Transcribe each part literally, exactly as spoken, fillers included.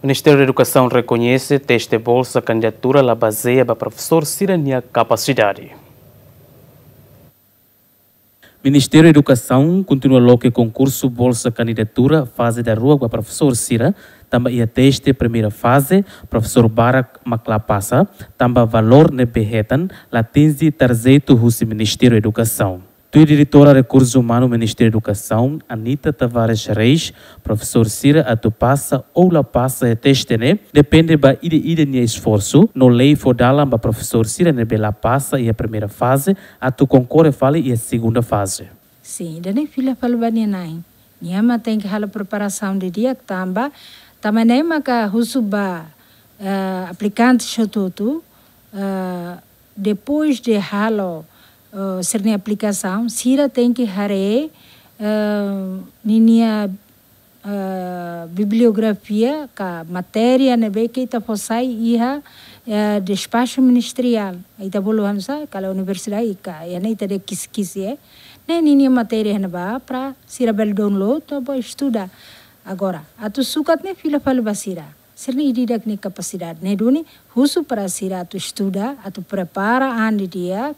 Ministériu Edukasaun rekoñese teste bolsa kandidatura la bazeia ba profesór sira-nia kapasidade. Ministériu Edukasaun kontinua loke konkursu bolsa kandidatura faze daruak ba profesór sira, tanba iha teste primeira faze, profesór barak mak la pasa, tanba valór ne'ebé hetan la atinje tarjetu husi Ministériu Edukasaun. Tuir Diretora Rekursu Umanu Ministériu Edukasaun, Anita Tavares Reis, profesór sira atu pasa ou la pasa iha teste ne'e depende ba ida-ida nia esforsu, no lei fó dalan ba profesór sira ne'ebé la pasa iha primeira faze atu konkorre fali iha segunda faze. Sin, ida-ne'e fila fali ba nia na'in. Nia mak tenke halo preparasaun didi'ak tanba, tanba ne'e maka husu ba, eh, aplikante hotu-hotu, eh, depois de halo, eh, sira-nia aplikasaun, sira tenke haree, eh, ninia, eh, bibliografia ka matéria ne'ebé ke ita fó sai iha, eh, despaxu ministeriál. Ita bolu hanesan, kala universidade ka, iha ne'e ita dehan kiskis, eh. Ne'e ninia matéria ne'ebá para sira bele download, atu bá estuda. Agora, atu sukat ne'e fila fali ba sira. Sira-nia ida-idak nia kapasidade. Ne'e duni, husu para sira atu estuda, atu prepara an didi'ak,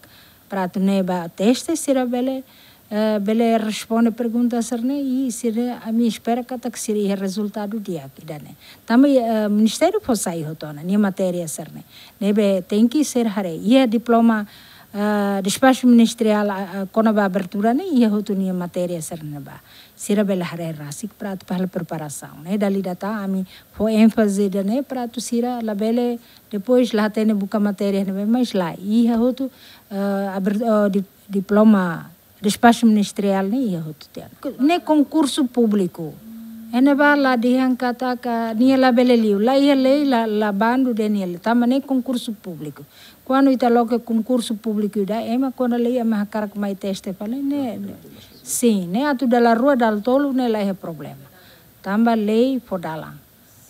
para atu ne'e ba teste sira bele, eh, bele responde pergunta sira-ne'e, i sira, ami espera katak sira iha rezultadu di'ak ida-ne'e. Tanba, eh, ministériu fó sai hotu ona, nia matéria sira-ne'e. Ne'ebé tenke ser haree, iha diploma, eh, despaxu ministeriál, eh, eh, kona-ba abertura ne'e, iha hotu nia matéria sira-ne'ebá. Sira bele haree rasik para atu halo preparasaun, ne'e. Dala ida tan ami fó énfaze ida-ne'e para atu sira labele, depois la hatene buka matéria ne'ebé, mas la, iha hotu, eh, aber-, eh, di-, diploma despaxu ministeriál ne'e iha hotu tiha ona. Ne'e konkursu públiku. Iha ne'ebá la dehan katak nia labele liu, la iha lei, la, la bandu dehan nia liu. Tanba ne'e konkursu públiku. Kuandu ita loke konkursu públiku ida, ema kuandu lei ema hakarak mai teste fali, ne'e, sin, ne'e atu dala rua, dala tolu, ne'e la iha problema. Tanba lei fó dalan,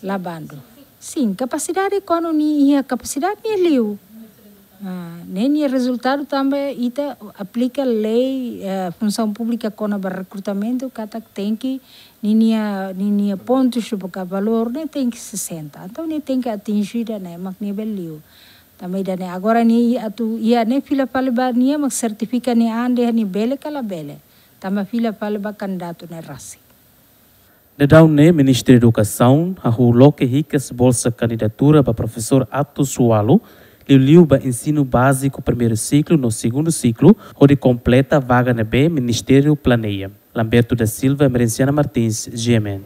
la bandu. Sin, kapasidade kuandu nia iha kapasidade nia liu. Ah, ne'e nia rezultadu tanba ita aplika lei, eh, funsaun públika kona-ba rekrutamentu, katak tenke ninia, ninia pontus ka valór ne'e tenke sesenta. Entaun nia tenke atinje ida-ne'e mak nia bele liu. Tanba ida-ne'e agora nia atu iha ne'e fila fali ba nia mak sertifika nia an dehan nia bele ka labele. Tanba fila fali ba kandidatu ne'e rasik. Daudaun ne'e Ministériu Edukasaun hahú loke hikas bolsa kandidatura ba profesór atus ualu, liuliu ba ensinu báziku primeiru siklu no segundu siklu, hodi kompleta vaga ne'ebé Ministériu planeia. Lamberto da Silva, Emerenciana Martins, G M N.